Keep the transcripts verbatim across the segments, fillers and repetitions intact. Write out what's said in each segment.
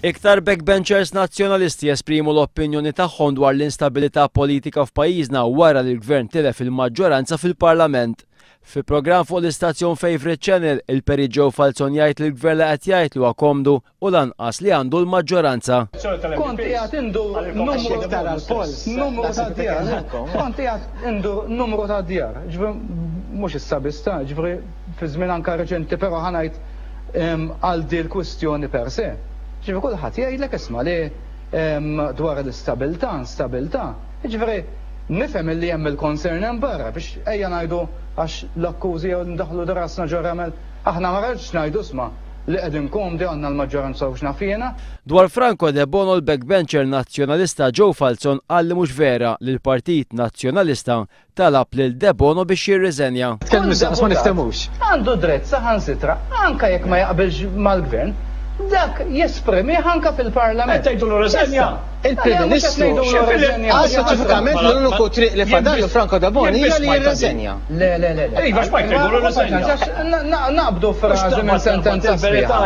Iktar backbenchers Nazzjonalisti jesprimu l-opinjoni tagħhom dwar l-instabilità politika f'pajjiżna wara li l-gvern tilef il-maġġoranza fil-Parlament. Fi programm fuq l-istazzjon Favourite Channel, il-Perit Joe Falzon jgħid li l-gvern la qed jgħid li huwa komdu u lanqas li għandu l-maġġoranza. Kont qiegħed indur numru numru ta' djar. Kont qiegħed indur numru ta' djar. Ġifieri mhux issa biss ta', ġifieri fi żmien anke reċenti, però ħa ngħid għal di l-kwistjoni per se. Ġifieri kulħadd jgħidlek, isma', li dwar l-istabilità, instabilità. Ġifieri nifhem li hemm il-concern hemm barra biex ejja ngħidu għax l-akkużi jew ndaħlu rasna ġo ramel. Aħna ma rridx ngħidu, isma', li qegħdin komdi, għandna l-maġġoranza u x'naf jiena. Dwar Franco Debono, l-backbencher Nazzjonalista Joe Falzon qal li mhux vera li l-Partit Nazzjonalista talab lil Debono biex jirriżenja. Tkellmu ma niftemux. Għandu dritt saħansitra, anka jekk ma jaqbilx mal-gvern, dak jesprimi anka fil-Parlament. Tgħidu riżenja. Il-Prim Ministru għal speċifikament l-uniku triq li fadallu Franco Debono hija li jirriżenja. Le, le, le, le. Iva, x'ma jgħidu riżenja. Naqbdu frażi minn sentenza sħiħa.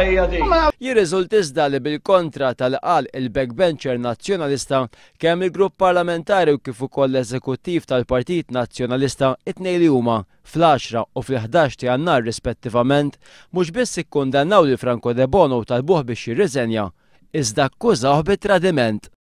Jirriżult iżda li bil-kontra tal-qal il-backbencher Nazzjonalista, kemm il-grupp parlamentari u kif ukoll l-eżekuttiv tal-Partit Nazzjonalista, it-tnejn li huma, fl-għaxra u fil-ħdax ta' Jannar rispettivament, mhux biss ikkundannaw li Franco Debono u talbuh biex jirriżenja, iżda akkużawh bit-tradiment.